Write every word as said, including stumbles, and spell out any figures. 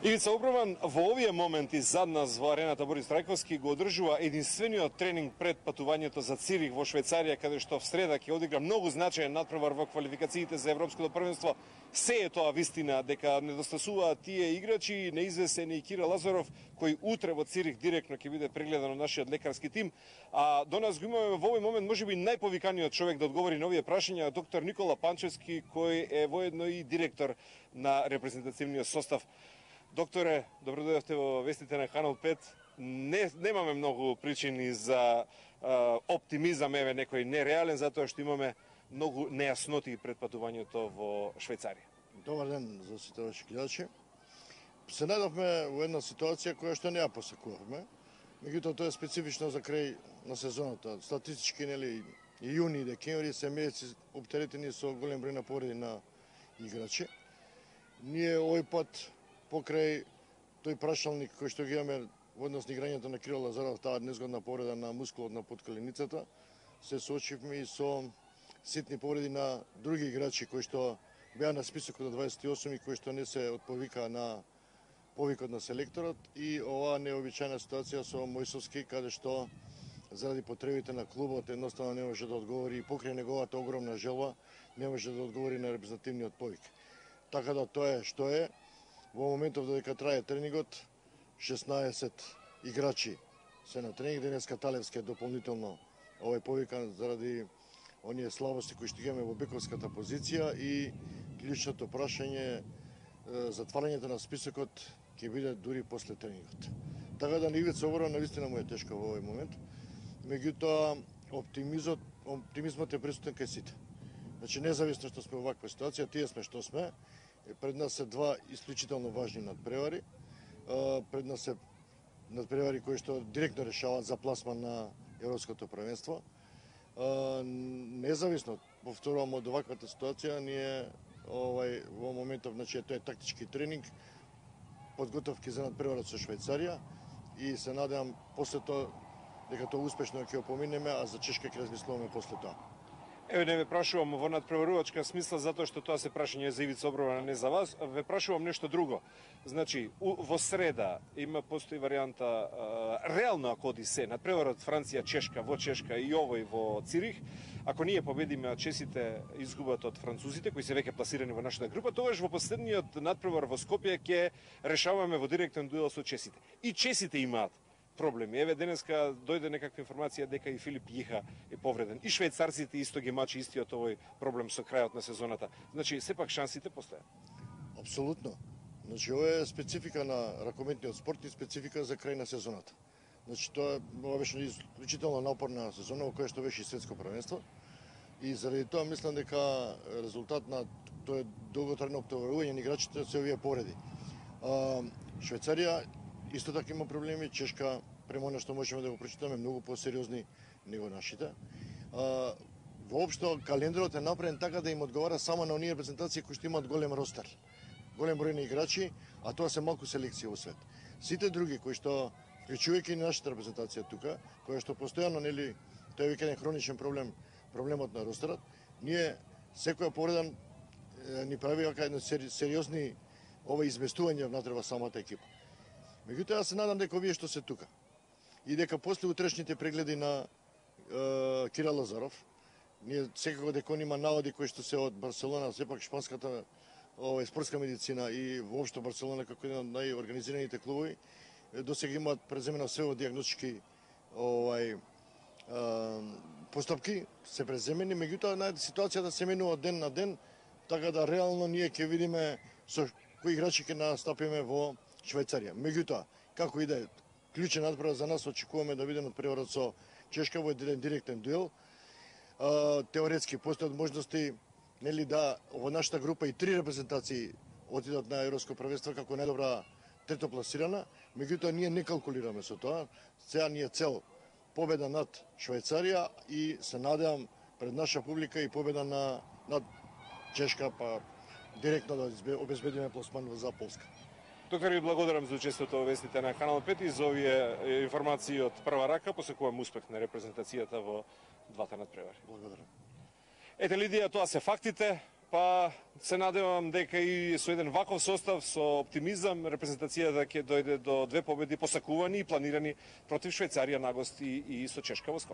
Ивица Оброман во овие моменти зад нас во арената Борис Трајковски го одржува единствениот тренинг пред патувањето за Цирих во Швајцарија, каде што в среда ќе одигра многу значаен надпревар во квалификациите за Европското првенство. Се е тоа вистина дека недостасуваат тие играчи, неизвесени Кира Лазаров, кој утре во Цирих директно ќе биде прегледан од нашиот лекарски тим. А до нас го имаме во овој момент можеби најповиканиот човек да одговори на овие прашања, доктор Никола Панчевски, кој е воедно и директор на репрезентативниот состав. Докторе, добро дојдовте во вестите на Канал пет. Не, немаме многу причини за а, оптимизам, еве некој нереален, затоа што имаме многу нејасноти пред патувањето во Швајцарија. Добар ден за сите ваши гледачи. Се најдовме во една ситуација која што не ја посекувавме. Меѓутоа тоа е специфично за крај на сезоната. Статистички, нели, и јуни и декември се месеци оптеретени со голем број на повреди на играчи. Ние овој пат покрај тој прашалник кој што ги имаме во однос на играњето на Кирил Лазаров, таа незгодна повреда на мускулот на подкаленицата, се соочивме и со ситни повреди на други играчи кои што беа на списокот од дваесет и осум и кои што не се отповика на повикот на селекторот, и оваа необичајна ситуација со Мојсовски, каде што заради потребите на клубот едноставно не може да одговори, и покрај неговата огромна желба не може да одговори на репрезентативниот повик. Така да тоа е што е. Во моментов додека трае тренингот, шеснаесет играчи се на тренинг. Денеска Талевски е дополнително овој повикан заради оние слабости кои што имаме во бековската позиција, и клучното прашање, затварањето на списокот ќе биде дури после тренингот. Така да на Ивица Оброман навистина му е тешко во овој момент, меѓутоа оптимизмот, оптимизмот е присутен кај сите. Значи, независно што сме во ваква ситуација, тие сме што сме. Пред нас се два исклучително важни надпревари. Пред нас се надпревари кои што директно решаваат за пласман на Европското првенство. Независно, повторувам, од оваквата ситуација, ние овај во моментов, значи тоа е тактички тренинг, подготовки за надпреварот со Швајцарија, и се надевам после тоа дека тоа успешно ќе го поминеме, а за Чешка ќе размислуваме после тоа. Еве, не ве прашувам во надпреварувачка смисла, затоа што тоа се прашање за Ивица Оброман, не за вас. Ве прашувам нешто друго. Значи, у, во среда има постои варијанта, а, реално ако оди се, надпреварот Франција-Чешка во Чешка и овој во Цирих, ако ние победиме, а чесите изгубат од французите, кои се веќе пласирани во нашата група, тогаш во последниот надпревар во Скопје ќе решаваме во директен дуел со чесите. И чесите имаат проблеми. Еве, денеска дојде некаква информација дека и Филип Јиха е повреден. И швајцарците исто ги мачи истиот овој проблем со крајот на сезоната. Значи, сепак шансите постојат. Апсолутно. Значи, ова е специфика на ракометниот спорт и специфика за крај на сезоната. Значи, тоа ова беше исклучително напорна сезона во која што беше и светско првенство. И заради тоа мислам дека резултат на тоа долготрајно оптоварување на играчите се овие повреди. Швајцарија исто така има проблеми. Чешка, према она што можеме да го прочитаме, многу посериозни него нашите. А, воопшто, календарот е направен така да им одговара само на оние репрезентации кои што имаат голем ростер, голем број на играчи, а тоа се малку селекција во свет. Сите други кои што, вклучувајќи и нашата репрезентација тука, која што постојано, нели, тоа е веќе еден хроничен проблем, проблемот на ростерот, ние секоја повреда ни прави вака едно сериозни ова изместување внатре во самата екипа. Меѓутоа, се надам дека овие што се тука и дека после утрешните прегледи на е, Кира Лазаров, ние секако дека он има наводи кои што се од Барселона, сепак шпанската овај спортска медицина и воопшто Барселона како еден од најорганизираните клубови, досега имаат преземено се во дијагностички овај е, постапки се преземени, меѓутоа најде ситуацијата се менува од ден на ден, така да реално ние ќе видиме со кои играчи ќе настапиме во Швајцарија. Меѓутоа, како и да е, клучен надпревар за нас, очекуваме да видиме надпреварот со Чешка во еден директен дуел. А, теоретски постојат можности, нели, да во нашата група и три репрезентации отидат на Европско првенство како најдобра трето пласирана, меѓутоа ние не калкулираме со тоа. Сега ни е цел победа над Швајцарија и се надевам пред наша публика и победа на над Чешка, па директно да обезбедиме пласман за Полска. Доктор, ви благодарам за учеството во вестите на Канал пет и за овие информации од прва рака. Посекувам успех на репрезентацијата во двата надпревари. Благодарам. Ете, Лидија, тоа се фактите. Па се надевам дека и со еден ваков состав, со оптимизам, репрезентацијата ќе дојде до две победи посакувани и планирани против Швајцарија на агост и, и со Чешка во Скопје.